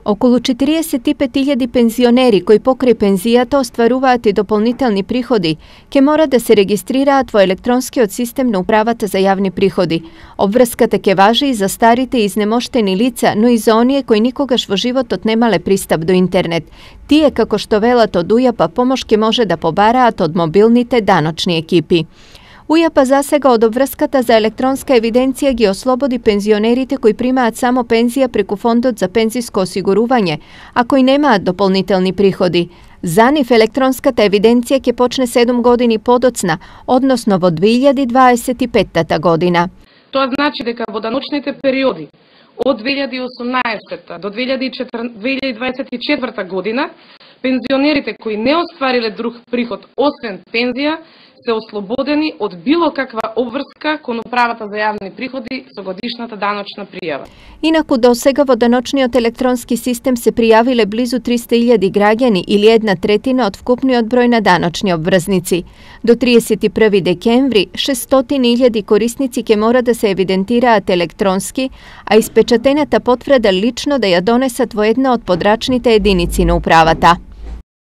Околу 45.000 пензионери кои покрај пензијата остваруваат и дополнителни приходи, ќе мора да се регистрираат во електронскиот систем на Управата за јавни приходи. Обврската ќе важи и за старите и изнемоштени лица, но и за оние кои никогаш во животот немале пристап до интернет. Тие, како што велат од УЈАП, помош ќе може да побараат од мобилните даночни екипи. УЈАП засега од обврската за електронска евиденција ги ослободи пензионерите кои примаат само пензија преку Фондот за пензиско осигурување, а кои немаат дополнителни приходи. За нив електронската евиденција ќе почне 7 години подоцна, односно во 2025 година. Тоа значи дека во даночните периоди од 2018 до 2024 година, пензионерите кои не оствариле друг приход освен пензија, се ослободени од било каква обврска кон Управата за јавни приходи со годишната даночна пријава. Инаку до сега во даночниот електронски систем се пријавиле близу 300.000 граѓани или 1/3 од вкупниот број на даночни обврзници. До 31 декември 600.000 корисници ќе мора да се евидентираат електронски, а испечатената потврда лично да ја донесат во една од подрачните единици на управата.